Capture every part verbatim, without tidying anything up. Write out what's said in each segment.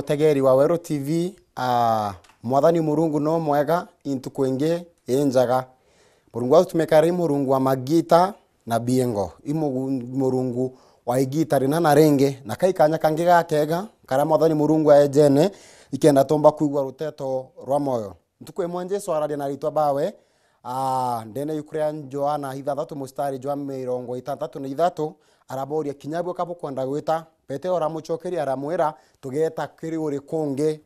Mutegeri wa Weru T V, ah, Mwathani Murungu no mwega, i ntuku ingi i njaga. Murungu wa gutumika ari Murungu wa magita na biengo. I Mugu-, Murungu wa igita rina na ringi, na kai kanya kangi gakega, karia Mwathani Murungu aejene, ikenda tumba kwigua ruteto rwa moyo. Ntuku imwe Jesu araria na aritwa bawe, ah, ndene yuku ria Johana ithathatu mustari jwa mirongo itantatu na ithatu, araboria, "Kinya bwe ka bukwenda gwita?" Petero aramucokeria aramwira, "Tugeeta kiri uri kungi,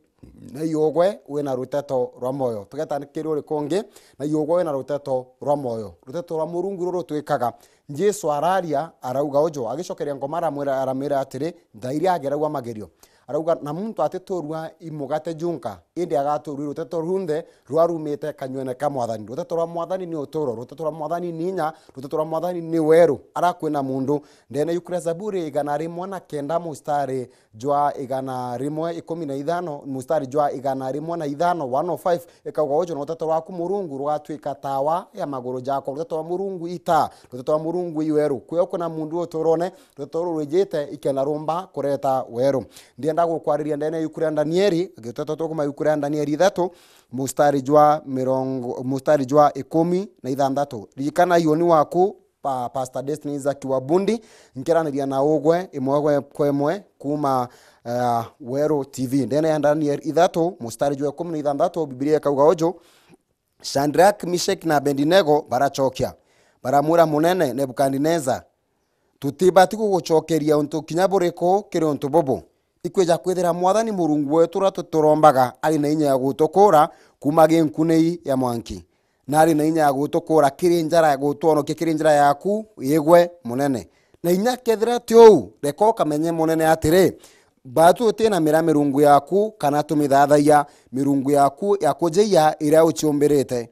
na iugwe wina ruteto rwa moyo." Tugeeta kiri uri kungi, na iugwe wina ruteto rwa moyo. Ruteto rwa Murungu ruru twikaga. Jesu araria, arauga uju, agicokeria ngoma aramwira, aramwira atiri, "Nthairia ageragua magerio." Arauga, "Na muntu atiturua i mugate junka, indi agaturua i ruteto runthe rurumite kanywene ka Mwathani." Ruteto rwa Mwathani ni uturo, ruteto rwa Mwathani ni inya, ruteto rwa Mwathani ni weru. Arakwina mundu ndene yuku ria Zaburi igana rimwe na kenda mustari jwa igana rimwe ikumi na ithano, mustari jwa igana rimwe na ithano, one oh five, ikauga uju, "Na ruteto rwaku Murungu rugatwika tawa ya maguru jakwa." Ruteto rwa Murungu i taa, ruteto rwa Murungu i weru. Kwio kwina mundu uturone, ruteto ruru rwijite ikenda rumba kureta weru. Ndienda gukwariria ndene yuku ria Danieli, giteto tukuma yuku ria Danieli ithatu, mustari jwa mirongo, mustari jwa ikumi na ithanthatu. Ririkana ioni waku, pa, Pastor Destiny Isaac wa Bundi, nkiraniria na ugwe imwe gwe-, kwa imwe kuma, eh, Weru T V. Ndene ya Danieli ithatu, mustari jwa ikumi na ithanthatu, Biblia ikauga uju, Shadrach, Meshach na Abednego baracokia, baramwira Munene Nebukadnezar, "Tutibati gugucokeria untu kinya buriku kiri untu bubu. Ikwija kwithira Mwathani Murungu wetu uria tuturombaga ari na inya ya gutukura kuuma ginkunei ya mwanki, na ari na inya ya gutukura kiri njara, gutwonokia kiri njara yaku, igwe Munene. Na inya kethira ti uu, reka ukamenye Munene atiri, batu tuti na mira mirungu yaku, kana tumithathagia mirungu yaku ya kujiia iria uciumbirite."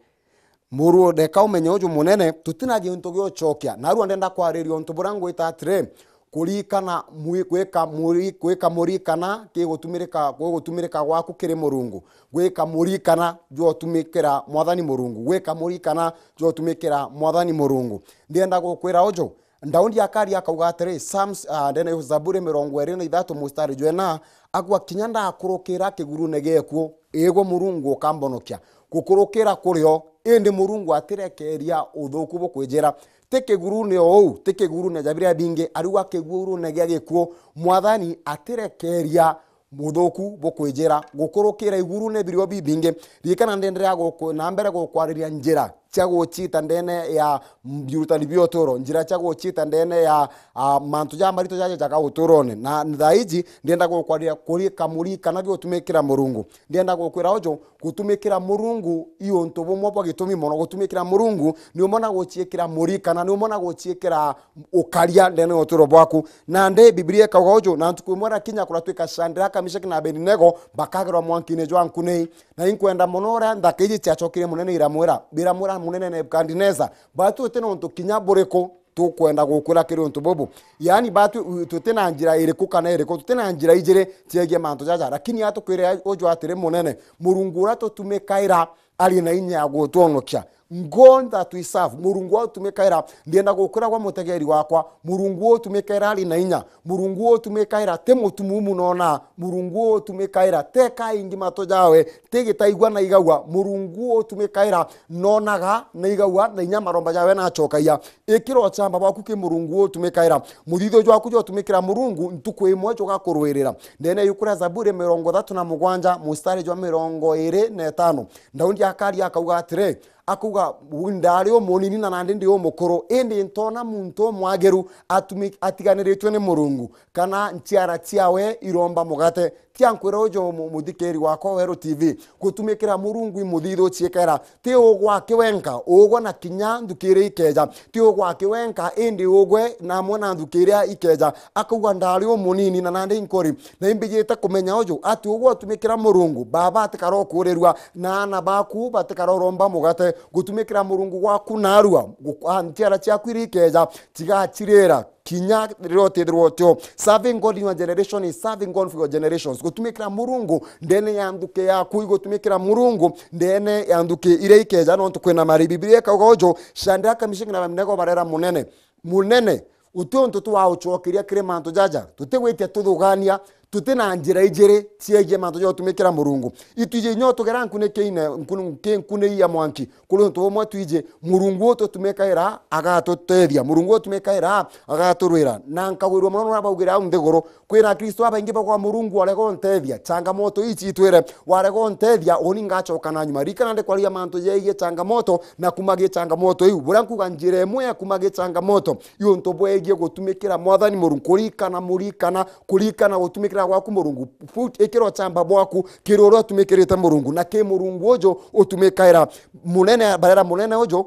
Muru, reka umenye uju Munene, tutina gintu gia ucokia. Narua ndenda kwariria untu buria ngwita atiri, kurikana mwi-, gwika muri-, gwika murikana kigutumirika, gugutumirika gwaku kiri Murungu. Gwika murikana jwa utumikira Mwathani Murungu. Gwika murikana jwa utumikira Mwathani Murungu. Ndienda gukwira uju, Daudi akaria akauga atiri, Psalms, ah, ndene ya Zaburi mirongo iri na ithatu mustari jwa ina, akauga, "Kinya ndakurukira kigurune gia gikuu, igwe Murungu ukambonokia." Gukurukira kurio, indi Murungu atirekeria uthuku bukwijira. Ti kigurune o uu, ti kigurune ja biria bingi, ariuga kigurune gia gikuu, Mwathani atirekeria muthuku bukwijira gukurukira igurune birio bibingi. Ririkana, ndenderea guku-, na mbere gukwariria njira cia gucita ndene ya mbiurutani bia uturo, njira cia gucita ndene ya, ah, mantu ja marito jaja jaga uturone. Na thaa iji ndienda gukwariria kurika murikana bia utumikira Murungu. Ndienda gukwira uju, gutumikira Murungu i untu bumwe bwa gitumi mono. Gutumikira Murungu ni umwe na guciikira murikana, ni umwe na guciikira ukaria ndene ya uturo bwaku. Nandi Biblia ikauga uju, "Na ntuku imwe irakinya kuratuika Shadraka, Meshaki na Abedinego bakagerwa mwankine jwa nkunei." Na inkwenda mono uria nthaka iji ciacokire Munene iramwira, biramwira Munene Nebukadnezar, "Batu tuti na untu kinya buriku tukwenda gukwira kiri untu bubu." Yaani, batu tuti na njira iriku kana iriku, tuti na njira ijiri ciegie mantu jaja. Lakini atukwire uju atiri, Munene, Murungu uria tutumikaira ari na inya ya gutwonokia. God that we serve, Murungu wa utumikaira, ndienda gukwira gwa mutegeri wakwa, Murungu wa utumikaira ari na inya, Murungu wa utumikaira ti mutumumu nona, Murungu wa utumikaira teka ingi mato jawe, ti gitaigua na igagua, Murungu wa utumikaira nonaga na igagua na inya maromba jawe nacokagia. Ikira uchamba bwaku ki Murungu wa utumikaira, muthithio jwaku jwa utumikira Murungu ntuku imwe jugakurwirira. Ndene yuku ria Zaburi mirongo ithatu na mugwanja mustari jwa mirongo iri na itano, Daudi akaria akauga atiri, akauga, "Ndari umunini na nandi ndi umukuru, indi ntona muntu umwagiru atumi-, atiganiritwe ni Murungu, kana nchiara ciawe iromba mugate." Tia nkwira uju mu-, muthikiri wakwa Weru T V, gutumikira Murungu i muthithu ciikera. Ti ugwe aki wenka, ugwe na kinya nthuki iria ikeja. Ti ugwe aki wenka, indi ugwe na amwe na nthuki iria ikeja. Akauga, "Ndari umunini na nandi nkuri, na imbijite kumenya uju, ati ugwe utumikira Murungu, baba atikara ukurirua, na aana baku batikara uromba mugate." Gutumikira Murungu gwaku narua, gu-, a, nchiara ciaku iria ikeja, tigacirira kinya riria utithirwa utio. Serving God in your generation is serving God for your generations. Gutumikira Murungu ndene ya nthuki yaku, igutumikira Murungu ndene ya nthuki iria ikeja, nontu kwina mari. Biblia ikauga uju, Shadraka, Meshaki na Abednego barera Munene, "Munene, guti untu twaucokeria kiri mantu jaja, tutigwitia tuthugania, Tuti na njira ijiri ciegie mantu ja gutumikira Murungu. Itwiji inya tugera nkuniki-ine, nkun-, nki-, nkuni ya mwanki. Kuri untu bumwe twiji, Murungu ututumikaira agatutethia. Murungu ututumikaira agaturwira. Na nkagwirua mono nuria baugire au nthiguru, kwina Akristo abaingi bagwa Murungu warega untethia. Changamoto ii citwire, warega untethia, uni ngacoka na nyuma. Ririkana ndikwaria mantu jegie changamoto na kumagia changamoto iu. Buria nkuga njira imwe ya kumagia changamoto, i untu bwegie gutumikira Mwathani Murungu, kurikana, murikana, kurikana gutumikira gwaku Murungu. Put, ikira uchamba bwaku kiri uria utumikirite Murungu, na ki Murungu uju utumikaira munene, barera munene uju.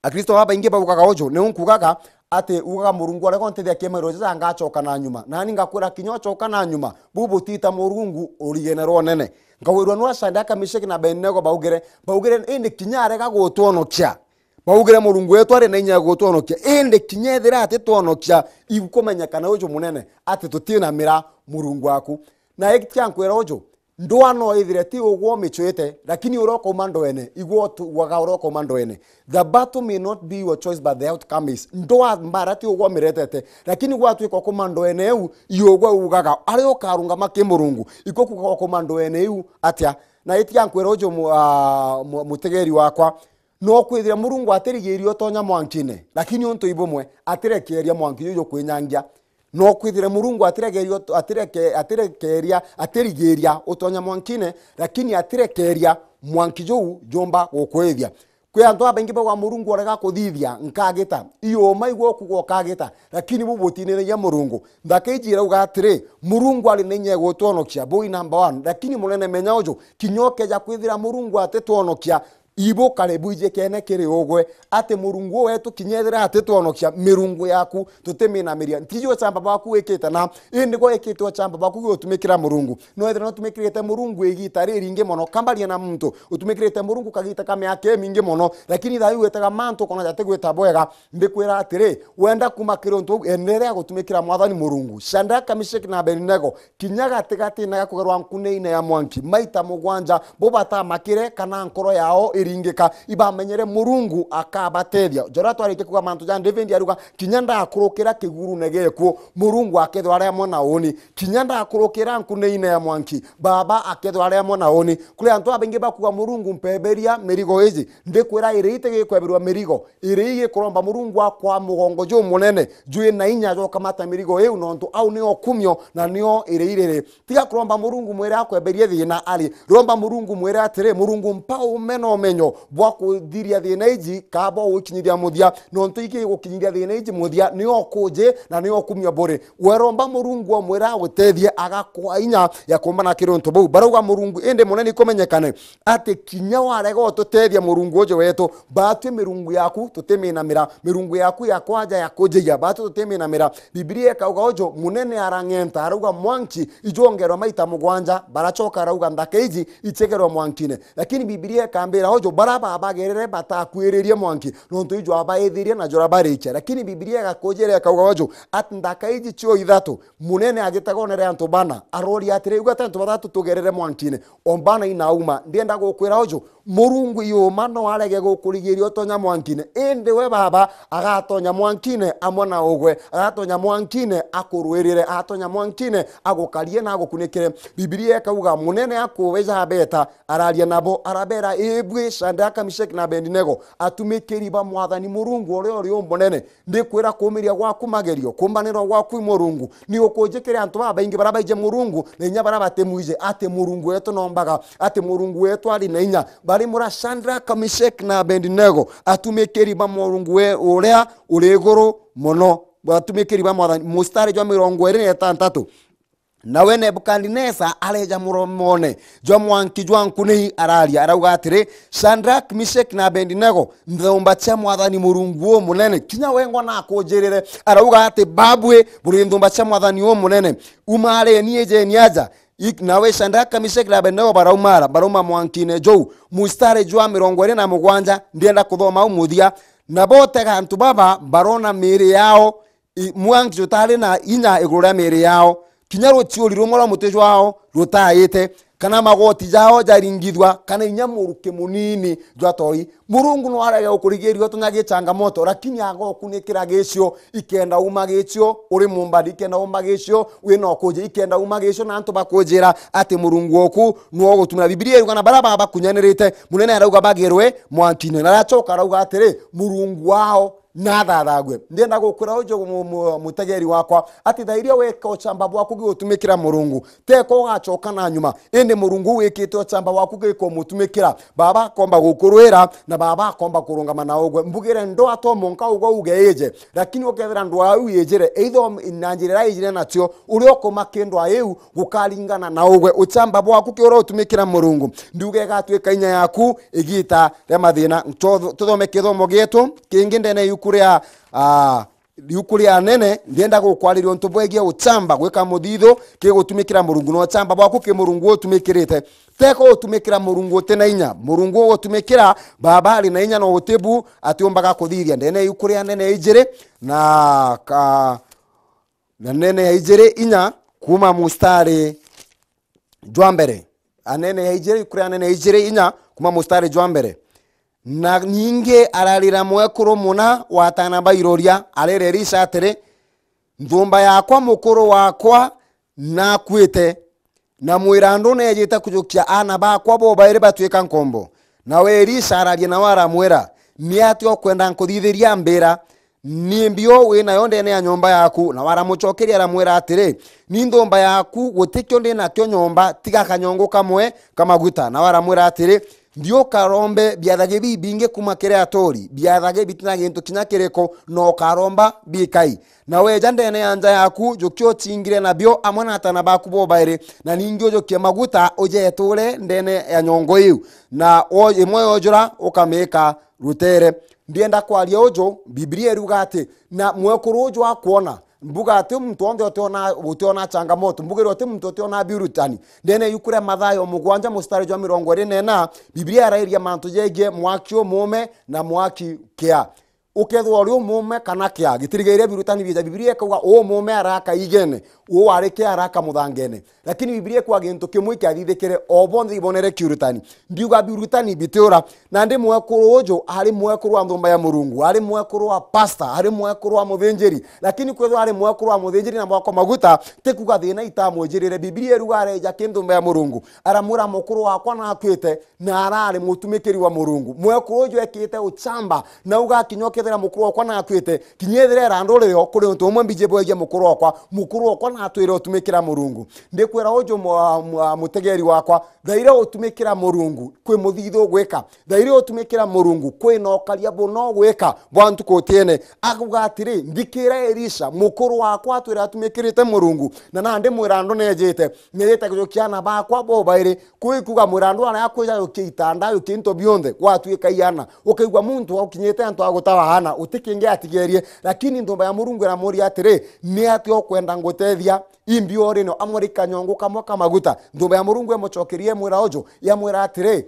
Akristo babaingi baugaga uju, niu nkugaga ati ugaga, "Murungu arega untethia kimairo jaja ngacoka na nyuma." Nani ngakwira, kinya ucoka na nyuma, bu butita Murungu urigene rwa unene. Nkagwirua nwa Shadraka, Meshaki na Abednego baugire, baugire, "Indi kinya arega gutwonokia." Baugire, "Murungu wetu ari na inya ya gutwonokia, indi kinya ethira atitwonokia, igukumenyekana uju munene ati tutinamira Murungu waku." Na iki tia nkwira uju, ndwaa no ithire ti ugwe umicwite, lakini uria ukauma ndwene, igwe utuaga uria ukauma ndwene. The battle may not be your choice, but the outcome is. Ndwaa mbara ti ugwe umiretete, lakini gwatuika ukuma ndwene iu, i ugwe ugaga. Aria ukarungama ki Murungu, iko kuga ukuma ndwene iu atia? Na itiga nkwira uju mu-, ah, mu-, mutegeri wakwa, no kwithira Murungu atirigiria utonya mwankine, lakini untu ibumwe, atirekeria mwanki juju kwinyangia. No kwithire Murungu atiregeria ut-, atireke-, atirekeria, atirigiria utonya mwankine, lakini atirekeria mwanki juu jumba gukwithia. Kwi antu abaingi bauga, "Murungu orega kuthithia, nkagita." Iyo uma igwe ukuga ukagita, lakini bu butiniragia Murungu. Nthaka iji irauga atiri, Murungu ari na inya ya gutwonokia, bui number one, lakini munene menya uju, kinya ukeja kwithira Murungu atitwonokia, ibu kare bwijikene kiri ugwe, ati Murungu wetu kinya ethira atitwonokia, mirungu yaku tutiminamiria. Ntiji uchamba bwaku wikite na, indi gwe wikite uchamba bwaku gutumikira Murungu. No ethira nutumikirite Murungu igita riringi mono, kambaria na muntu utumikirite Murungu kagita ka miaka imingi mono, lakini thayu witaga mantu ukona jati gwita bwega, ndikwira atiri, wenda kuma kiri untu uu, enderea gutumikira Mwathani Murungu. Shadraka, Meshaki na Abednego, kinya gatigatine ga kugerwa nkuniine ya mwanki maita mugwanja, bo batamakire kana nkoro yao iringika, ibamenyere Murungu akabatethia. Joria twarikia kuuga mantu ja David aruga, "Kinya ndakurukira kigurune gikuo, Murungu akethirwa ari amwe na uni. Kinya ndakurukira nkuniine ya mwanki, Baba akethirwa ari amwe na uni." Kuri antu abaingi bakuuga, "Murungu, mpeberia mirigo iji." Ndikwira, iri itigikweberwa mirigo, iri igikuromba Murungu akwa mugongo jumunene, jwi na inya jwa ukamata mirigo iu, nontu au nio kumio na nio iri iriri. Tiga kuromba Murungu mwire akweberie thina ari. Romba Murungu mwire atiri, "Murungu, mpa ume na umenyo bwa kuthiria thina iji, kaa bwa gukinyithia muthia, nontu igigukinyithia thina iji muthia, nio kuji na nio kumio buri." We romba Murungu omwire agutethie, agakwa inya ya kumbana kiri untu buu. Barauga, "Murungu, indi munene ikumenyekane." Ati kinya warega ututethia Murungu uju wetu, batwi mirungu yaku tutiminamira, mirungu yaku ya kwaja ya kujigia, batwi tutiminamira. Bibilia ikauga uju, munene arang'enta, arauga, "Mwanki ijwongerwa maita mugwanja." Baracoka arauga, "Nthaka iji ichegerwe mwankine." Lakini Bibilia ikambira uju, bara babagerere batakwiririe mwanki, nontu ijwabaithirie na jurabarikia. Lakini Bibilia igakujira ikauga uju, ati nthaka iji cio ithatu, munene agitagonere antu bana, aroria atiri, "Igwe ati antu bathatu tugerere mwankine?" Ombana inauma, ndienda gukwira uju, Murungu yuma no arege gukurigiria utonya mwankine, indi we Baba agatonya mwankine amwe na ugwe, agatonya mwankine akurwirire, agatonya mwankine agukarie na agukunikire. Bibilia ikauga, munene akuwe jabeta, araria nabo, arabera, "Ibwi Shadraka, Meshaki na Abednego, atumikiri ba Mwathani Murungu uria uri umunene, ndikwira kuumiria gwaku magerio, kumbanirwa gwaku i Murungu, ni ukunjikire antu babaingi baria baije Murungu, na inya baria batimwije, ati Murungu wetu nombaga, ati Murungu wetu ari na inya." Bari mura Shadraka, Meshaki na Abednego, atumikiri ba Murungu we uria uri iguru mono, atumikiri ba Mwathani, mustari jwa mirongo iri na itantatu. Nawe Nebukadinesa areja muromone jwa mwanki jwa nkuni, araria, arauga atiri, "Shadraka, Meshaki na Abednego, nthumba cia Mwathani Murungu umunene, kinya wengwa nakunjirire." Arauga ati, "Babwi buri nthumba cia Mwathani umunene, umareni, ijeni aja." Ik-, nawe Shadraka, Meshaki na Abednego baraumara, barauma mwankine juu. Mustari jwa mirongo iri na mugwanja, ndienda kuthoma au muthia. Nabo utega antu baba barona miiri yao, i-, mwanki jutari na inya iguru ria miiri yao, kinya ruciuri rumwe rwa muti jwao rutaite, kana magoti jao jaringithua, kana inya muruki munini jwa toi. Murungu no arege gukurigiria utunya gichangamoto, lakini agokunikira gicio, ikenda uma gicio uri mumbari, ikenda uma gicio wina ukuji, ikenda uma gicio na antu bakujira ati Murungu oku nwo ugutumira. Bibilia iruga na bara baba bakunyanirite, munene arauga bagirwe mwankine, na aracoka arauga atiri, Murungu wao nathathagwe. Ndienda gukwira uju mu-, mu-, mutegeri wakwa, ati thairia weka uchamba bwaku gigutumikira Murungu, teko ugacoka na nyuma, indi Murungu wikite uchamba bwaku gikumutumikira, baba akomba gukurwira, na baba akomba kurungama na ugwe. Mbugire ndwaa to monka ugwe uge ije, lakini ukethira ndwaa iu ijire, either na njira iria ijire nacio, uria ukuma ki ndwaa iu gukaringana na ugwe. Uchamba bwaku ki uria utumikira Murungu, ndiuga igatuika inya yaku igita ria mathina. Tutho-, tuthome kithomo gietu kingi ndene yuku ria, ah, riu kuri anene, ndienda gukwariria untu bwegie uchamba gwika muthithu kigutumikira Murungu, na uchamba bwaku ki Murungu utumikirite. Teko utumikira Murungu uti na inya. Murungu ugutumikira, baba ari na inya na utibu atiumbaga kuthithia. Ndene iu kuri anene ijiri na ka-, na nene ya ijiri inya kuma mustari jwa mbere. Anene ya ijiri, kuri anene ya ijiri inya kuma mustari jwa mbere. Na ningi ararira mwekuru muna wa atana ba iroria, arera Elisha atiri, nthumba yakwa, mukuru wakwa nakuite, na mwirandu neejite kujukia aana bakwa bobairi batuika nkombo. Nawe Elisha araria nawe aramwira, ni atia ukwenda nkuthithiria? Mbira, ni mbio wi nayo ndene ya nyomba yaku? Nawe aramucokeria aramwira atiri, ni nthumba yaku, gutikio ndi nakio nyomba, tiga kanyongo kamwe ka maguta. Nawe aramwira atiri, nthiukarombe biathagi bibingi kuma kiri aturi, biathagi bitina gintu kinya kiriku, na ukaromba bikai. Na weja ndene ya nja yaku, jukia ucingire nabio amwe na atana baku bobairi, na ningi ujukie maguta ujeture ndene ya nyongo iu, na wo-, imwe yojura ukamika rutere. Ndienda kwaria uju, Bibilia iruga ati, na mwekuru uju akwona, mbuga ati muntu wonthe utiona, utiona changamoto, mbugire uti muntu utiona biurutani. Ndene yuku ria Mathayo mugwanja mustari jwa mirongo iri na ina, Bibilia irairia mantu jegie mwaki umume na mwaki kia. Ukethirwa uri umume kana kia, gitirigaire birutani bieja. Bibilia ikauga umume araka igene, uu wari kia araka muthangene. Lakini Bibilia ikauga gintu kimwe ikiathithikire, o bonthe ibonere kiurutani. Ndiuga birutani bitiura. Nandi mwekuru uju ari mwekuru wa nthumba ya Murungu, ari mwekuru wa pastor, ari mwekuru wa muthinjiri. Lakini kwethirwa ari mwekuru wa muthinjiri na mwako maguta, ti kuga thina itamwijirire. Bibilia iruga areja ki nthumba ya Murungu, aramwira, mukuru wakwa nakuite, na arari mutumikiri wa Murungu. Mwekuru uju ekite uchamba, na ugakinya ukethira mukuru wakwa nakuite, kinya ethira irandu rio kuri untu umwe mbiji bwegie mukuru wakwa, mukuru wakwa natwire utumikira Murungu. Ndikwira uju mu-, mu-, mutegeri wakwa, thaire utumikira Murungu kwi muthithu ugwika, thaire utumikira Murungu kwi na ukaria buna ugwika bwa ntuku utiene. Akuga atiri, nthikira Elisha, mukuru wakwa atwire atumikirite Murungu, na nandi mwirandu nejite, nejite kujukia aana bakwa bobairi, Kwi kuga mwirandu aria akwija yukia itanda, yukia into bionthe, gwatuika iana. Ukaigua muntu aukinyite antu a gutawa aana, uti kingi atigerie. Lakini nthumba ya Murungu iramuria atiri, ni atia ukwenda ngutethia? Imbi uri no amwe ri kanyongo kamwe ka maguta. Nthumba ya Murungu imucokerie imwira uju, yamwira atiri,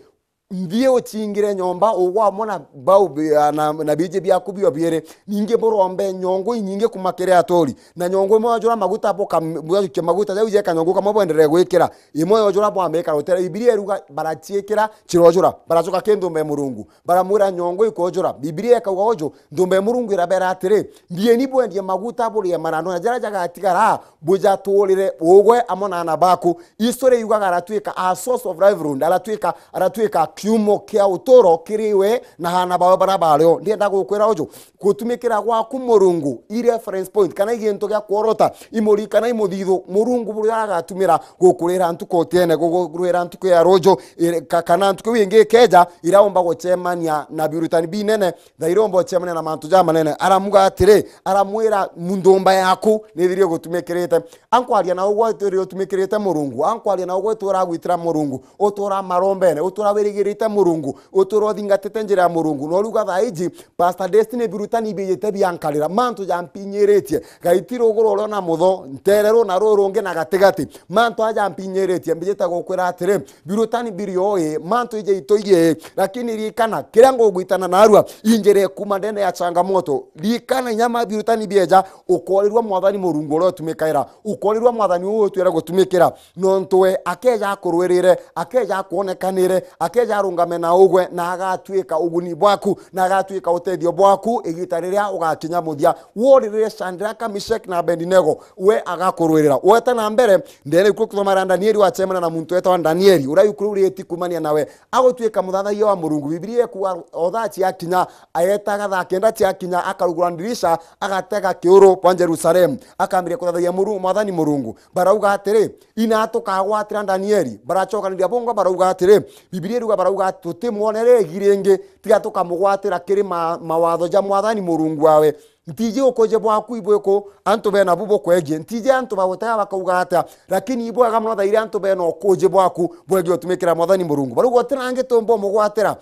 nthie uchingire nyomba, ugwe amwe na bau bi-, na, na biji biaku bio biiri. Ningi burombe nyongo inyingi kuma kiri aturi. Na nyongo imwe yojura maguta, buka-, bujukia maguta jau jeka nyongo kamwe bwenderee gwikira. Imwe yojura bwambika rutere. Bibilia iruga baraciikira, cirojura. Baracoka ki nthumba ya Murungu. Baramwira nyongo ikojura. Bibilia ikauga uju, nthumba ya Murungu irabera atiri, thieni bwendie maguta burie marandu, na jaria jagatigara bujaturire ugwe amwe na aana baku. History yugaga aratuika a source of livelihood, aratuika, aratuika kiumo kia uturo kiri we na aana bawe baria bario. Ndienda gukwira uju, gutumikira gwaku Murungu i reference point kana i gintu gia kworota, i muri-, kana i muthithu Murungu buria agatumira gukurira ntuku utiene, gukurira ntuku ya ruju, iri-, ka-, kana ntuku iu ingi ikeja, iraumba gucemania na biurutani binene, thaire umba gucemania na mantu jamanene. Aramuga atiri, aramwira, nthumba yaku nithirie gutumikirite. Ankwaria na ugwe itwire utumikirite Murungu, ankwaria na ugwe itwire uragwitira Murungu, utura marombene, utura wirigirite rite Murungu, uturo uthingatite njira ya Murungu. No riuga thaa iji, Pastor Destiny, birutani biijite biankarira, mantu jampinyiritie. Gaiti ruguru urio na mutho, ntere runa ruru rungi na gatigati. Mantu aja jampinyiritie, mbijite gukwira atiri, birutani biri oi, mantu ije itoiye, lakini ririkana, kiria ngugwitana narua, injire kuma ndene ya changamoto. Ririkana, inya ma birutani bieja, ukorirwa Mwathani Murungu uria utumikaira, ukorirwa Mwathani uu utwire gutumikira. Nontu we akeja akurwirire, akeja akwonekanire, akeja arungame na ugwe, na agatuika uguni bwaku, na agatuika utethio bwaku igita riria ugakinya muthia. Woririre Shadraka, Meshaki na Abedinego, we agakurwirira. Weta na mbere, ndene ikuo kuthoma ra Danieli, wachemana na muntu wetwa Danieli, uria ikuru rieti kumania nawe, agutuika muthathaiya wa Murungu. Bibilia ikuuga o thaa ciakinya, ayetaga thaa kenda ciakinya, akarugura ndirisha, agatega kiuru bwa Jerusalemu, akambiria kuthathaiya Muru-, Mwathani Murungu. Barauga atiri, "Ina tukagwatira Danieli?" Baracokaniria bongwa, barauga atiri, Bibilia iruga, barauga, "Tutimwonere igi ringi, tiga tukamugwatira kiri ma-, mawatho ja Mwathani Murungu wawe." Ntiji ukuje bwaku ibwiku antu bena bu bukwegie. Ntiji antu bagutega bakauga atia, lakini ibwega mono thairi antu bena ukuje bwaku bwegie utumikira Mwathani Murungu. Barauga, "Uti nangi tumba umugwatira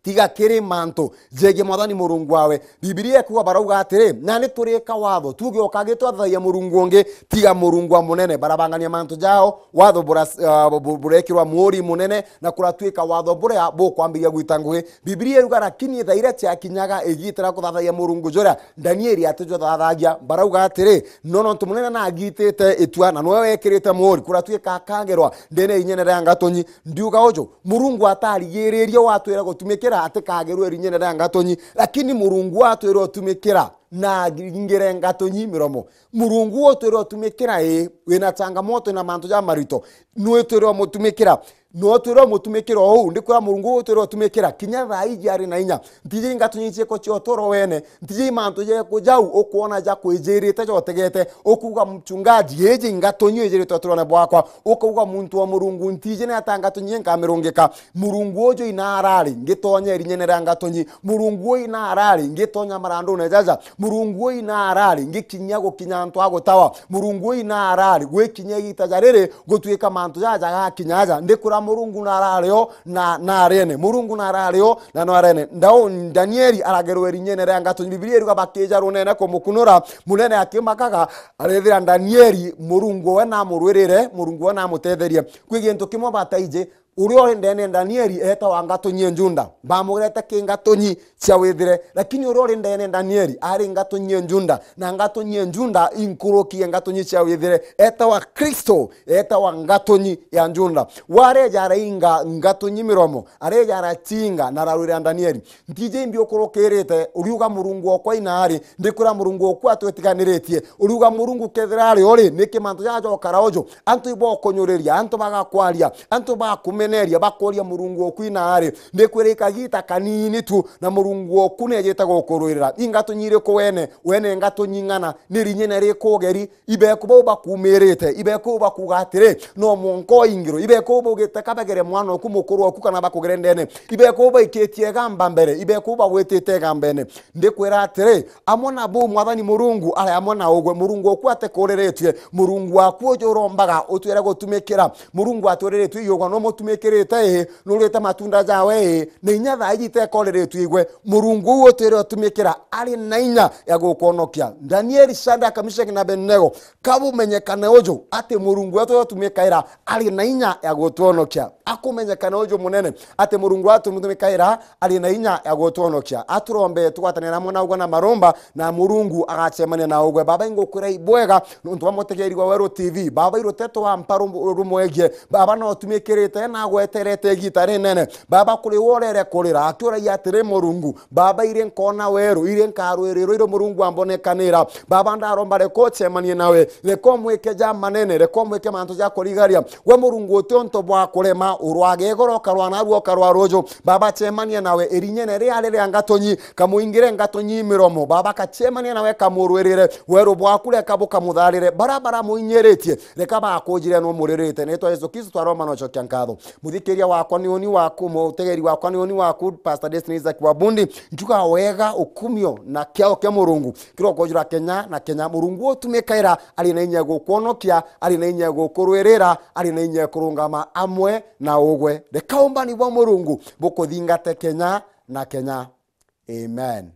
tiga kiri mantu jegie Mwathani Murungu wawe." Bibilia ikuuga, barauga atiri, "Nani turika watho, tuge ukagi twathathaiya Murungu ungi tiga Murungu wa munene?" Barabangania mantu jao, watho bura-, ah, bu-, bu-, burekirwa muuri munene, na kuratuika watho buria bukwambiria gwita ngugi. Bibilia iruga, lakini thaa iria ciakinyaga igita ria kuthathaiya Murungu juria Danieli atijuthathagia, barauga atiri, "No nontu munene nagitite itua, na niwe wekirite muuri, kuratuika akagerwa ndene ya inyene ria ngatonyi." Ndiuga uju, Murungu atarigiririe watwire gutumikira atikagerwe irinyene ria ngatonyi, lakini Murungu watwire utumikira na aringire ngatonyi miromo. Murungu utwire utumikira, ii, wina changamoto na mantu ja marito, nwitwire umutumikira. No twire umutumikira uu, ndikwira Murungu utwire utumikira, kinya thaa iji ari na inya. Ntiji ngatonyi cieko cia uturo wene, ntiji mantu jeku jau ukwona ja kwijirite jotegete, ukuuga, "Mchungaji, iji ngatonyi ijirite uturone bwakwa." Ukauga, "Muntu wa Murungu, ntiji ni ata ngatonyi nkamirungika?" Murungu uju inarari ngitonya irinyene ria ngatonyi. Murungu uyu inarari ngitonya marandune jaja. Murungu uyu inarari ngikinyia gukinya antu a gutawa. Murungu uyu inarari gwikinyia igita ja riri gutuika mantu jaja gakinya aja. Ndikura Murungu narari o na, na arene. Murungu narari o na no arene. Ndau Danieli aragerwe irinyene ria ngatonyi. Bibilia iruga bakija runene kumukunura. Munene akimakaga, arethira Danieli Murungu we namurwirire, Murungu we namutetherie. Kwi gintu kimwe bataiji, uria uri ndene Danieli etawa ngatonyi e Juda. Bamugerete ki ngatonyi cia withire, lakini uria uri ndene Danieli ari ngatonyi e Juda, na ngatonyi e Juda inkuruki e ngatonyi cia withire. Etawa Kristo, etawa ngatonyi ya Juda. Wareja arainga ngatonyi miromo, areja aracinga na ararwira Danieli. Ntiji imbi ukurukirite, uriuga, "Murungu okwa inari, ndikwira Murungu oku atwitiganiritie." Uriuga, "Murungu kethira ari uri, niki mantu jaja jokara uju?" Antu ibokunyuriria, antu bagakwaria, antu bakumeneria, bakoria Murungu oku inari. Ndikwira ikagita kanini tu, na Murungu oku nejite gukurwirira. Ingatonyi iriku wene, wene ngatonyi ng'ana, ni rinyene riku ugeri, Ibeku bau bakuumirite, ibeku bau bakuuga atiri, "No mwanka uingirwe." Ibeku bau baugite, "Ka bagere mwana oku, mukuru oku, kana bakugere ndene." Ibeku bau baikitie igamba mbere, ibeku bau bagwitite igambene. Ndikwira atiri, amwe na bau Mwathani Murungu ari amwe na ugwe. Murungu oku atikuriritue, Murungu waku uju urombaga utwire gutumikira. Murungu aturiritue iyugwa, no mutumikirite ii, nurite matunda jawe ii, na inya thaa iji itekoriritue igwe. Murungu uu utwire utumikira ari na inya ya gukwonokia. Danieli, Shadraka, Meshaki na Abednego, kabumenyekane uju ati Murungu wetu utumikaira ari na inya ya gutwonokia. Akumenyekane uju munene ati Murungu wetu utumikaira ari na inya ya gutwonokia. Aturombe tugwatanira amwe na ugwe na maromba, na Murungu agacemania na ugwe. Baba, ingukwira ibwega nontu bwa mutegeeri wa Weru T V. Baba, iruteto wa mpa rum-, rumwegie. Baba, no utumikirite na agweterete igita rinene. Baba, kuri we urere kurira, akiuragia atiri, Murungu, Baba, iri nkona weru, iri nkarwirirwa, iri Murungu ambonekanira. Baba, ndaromba, reka ucemanie nawe, reka umwike ja manene, reka umwike mantu ja kurigaria. We Murungu, uti untu bwa kurema, urwage igoro, ukarwa narua, ukarwa ruju. Baba, cemania nawe, irinyene ria riria ngatonyi, kamuingire ngatonyi miromo. Baba, kacemania nawe, kamurwirire, weru bwaku reka bukamutharire. Bara baramuinyiritie, reka bakujire, no muririte. Nitwa Yesu Kristo twaromba na ucokia nkatho. Muthikiria wakwa ni uni waku, mutegeri wakwa ni uni waku, Pastor Destiny Isaac Wabundi. Njuga wega, ukumio na kiao kia Murungu kirokojura Kenya na Kenya. Murungu utumikaira, ari na inya gukwonokia, ari na inya gukurwirira, ari na inya kurungama amwe na ugwe. Reka umbani bwa Murungu bukuthingate Kenya na Kenya. Amen.